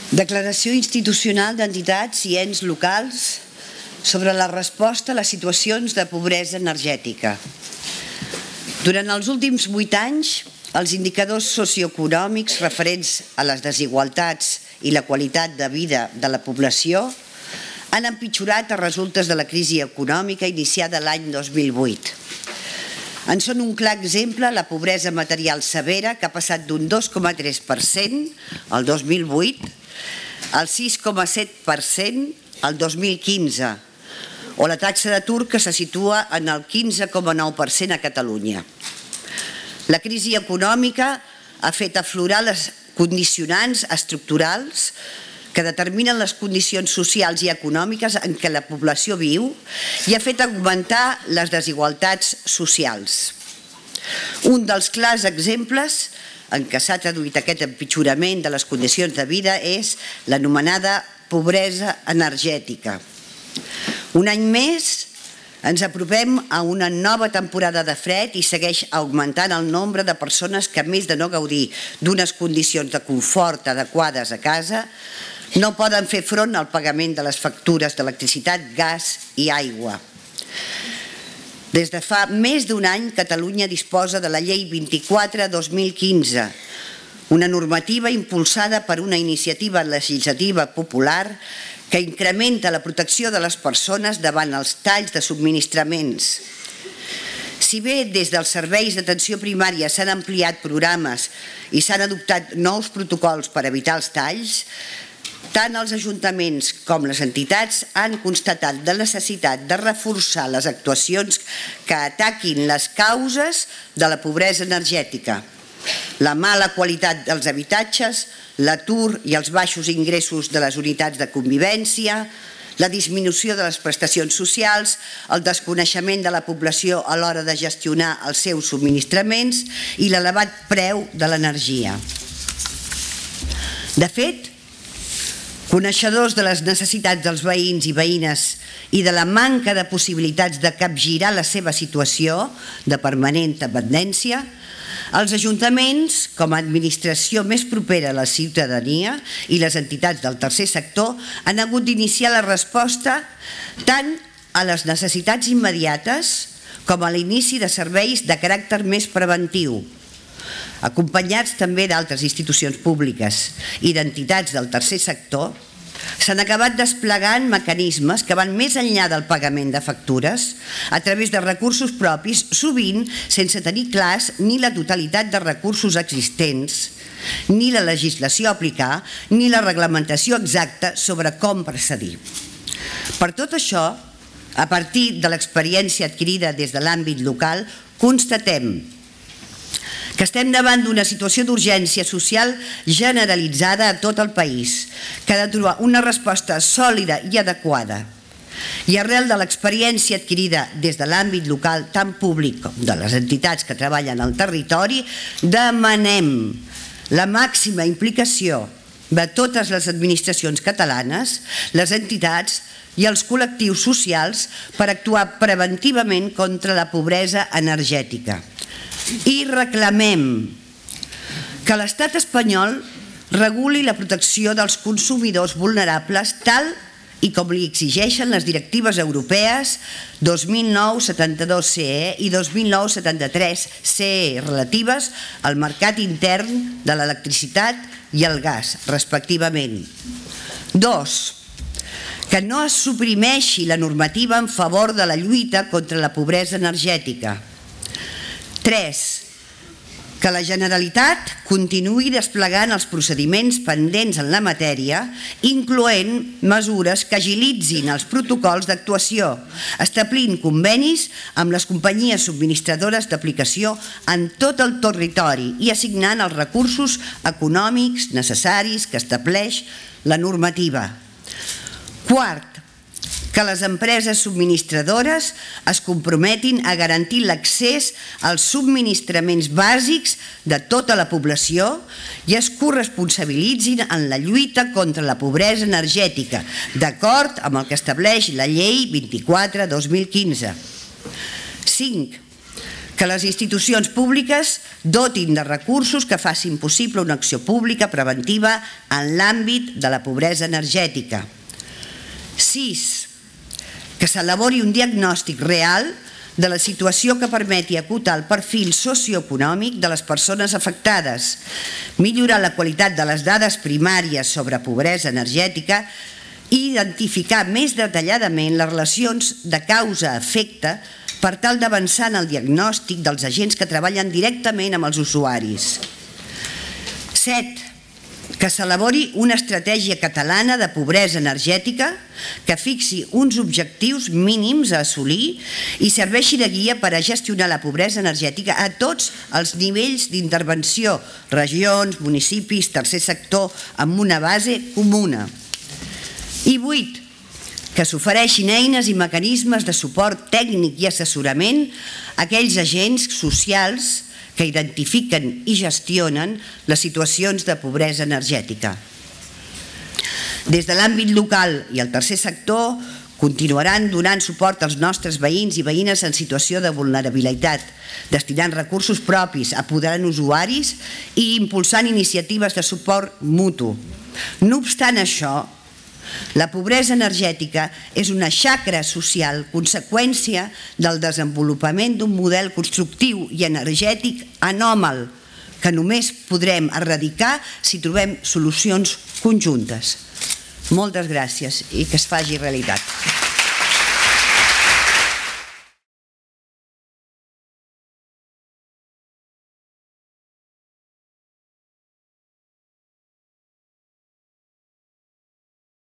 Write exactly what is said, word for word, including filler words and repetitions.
Declaració institucional d'entitats i ens locals sobre la resposta a les situacions de pobresa energètica. Durant els últims vuit anys, els indicadors socioeconòmics referents a les desigualtats i la qualitat de vida de la població han empitjorat a resultes de la crisi econòmica iniciada l'any dos mil vuit. En són un clar exemple la pobresa material severa, que ha passat d'un dos coma tres per cent el dos mil vuit al sis coma set per cent el dos mil quinze, o la taxa d'atur que se situa en el quinze coma nou per cent a Catalunya. La crisi econòmica ha fet aflorar les condicionants estructurals que determinen les condicions socials i econòmiques en què la població viu i ha fet augmentar les desigualtats socials. Un dels clars exemples en què s'ha traduït aquest empitjorament de les condicions de vida és l'anomenada pobresa energètica. Un any més ens apropem a una nova temporada de fred i segueix augmentant el nombre de persones que, a més de no gaudir d'unes condicions de confort adequades a casa, no poden fer front al pagament de les factures d'electricitat, gas i aigua. Des de fa més d'un any, Catalunya disposa de la Llei vint-i-quatre dos mil quinze, una normativa impulsada per una iniciativa legislativa popular que incrementa la protecció de les persones davant els talls de subministraments. Si bé des dels serveis d'atenció primària s'han ampliat programes i s'han adoptat nous protocols per evitar els talls, tant els ajuntaments com les entitats han constatat la necessitat de reforçar les actuacions que ataquin les causes de la pobresa energètica, la mala qualitat dels habitatges, l'atur i els baixos ingressos de les unitats de convivència, la disminució de les prestacions socials, el desconeixement de la població a l'hora de gestionar els seus subministraments i l'elevat preu de l'energia. De fet, coneixedors de les necessitats dels veïns i veïnes i de la manca de possibilitats de capgirar la seva situació de permanent dependència, els ajuntaments, com a administració més propera a la ciutadania, i les entitats del tercer sector han hagut d'iniciar la resposta tant a les necessitats immediates com a l'inici de serveis de caràcter més preventiu, acompanyats també d'altres institucions públiques i d'entitats del tercer sector. S'han acabat desplegant mecanismes que van més enllà del pagament de factures a través de recursos propis, sovint sense tenir clars ni la totalitat de recursos existents, ni la legislació a aplicar, ni la reglamentació exacta sobre com procedir. Per tot això, a partir de l'experiència adquirida des de l'àmbit local, constatem que estem davant d'una situació d'urgència social generalitzada a tot el país, que ha de trobar una resposta sòlida i adequada. I arrel de l'experiència adquirida des de l'àmbit local, tant públic com de les entitats que treballen al territori, demanem la màxima implicació de totes les administracions catalanes, les entitats i els col·lectius socials per actuar preventivament contra la pobresa energètica. I reclamem que l'Estat espanyol reguli la protecció dels consumidors vulnerables tal i com li exigeixen les directives europees dos mil nou setanta-dos C E i dos mil nou setanta-tres C E relatives al mercat intern de l'electricitat i el gas, respectivament. Dos, que no es suprimeixi la normativa en favor de la lluita contra la pobresa energètica. Tres, que la Generalitat continuï desplegant els procediments pendents en la matèria, incloent mesures que agilitzin els protocols d'actuació, establint convenis amb les companyies subministradores d'aplicació en tot el territori i assignant els recursos econòmics necessaris que estableix la normativa. Quart, que les empreses subministradores es comprometin a garantir l'accés als subministraments bàsics de tota la població i es corresponsabilitzin en la lluita contra la pobresa energètica, d'acord amb el que estableix la Llei vint-i-quatre dos mil quinze. Cinc, que les institucions públiques dotin de recursos que facin possible una acció pública preventiva en l'àmbit de la pobresa energètica. sis. Que s'elabori un diagnòstic real de la situació que permeti acotar el perfil socioeconòmic de les persones afectades, millorar la qualitat de les dades primàries sobre pobresa energètica i identificar més detalladament les relacions de causa-efecte per tal d'avançar en el diagnòstic dels agents que treballen directament amb els usuaris. set. Que s'elabori una estratègia catalana de pobresa energètica que fixi uns objectius mínims a assolir i serveixi de guia per a gestionar la pobresa energètica a tots els nivells d'intervenció, regions, municipis, tercer sector, amb una base comuna. I vuit. Que s'ofereixin eines i mecanismes de suport tècnic i assessorament a aquells agents socials que identifiquen i gestionen les situacions de pobresa energètica. Des de l'àmbit local i el tercer sector continuaran donant suport als nostres veïns i veïnes en situació de vulnerabilitat, destinant recursos propis, apoderant usuaris i impulsant iniciatives de suport mutu. No obstant això, la pobresa energètica és una xacra social conseqüència del desenvolupament d'un model constructiu i energètic anòmal que només podrem erradicar si trobem solucions conjuntes. Moltes gràcies i que es faci realitat.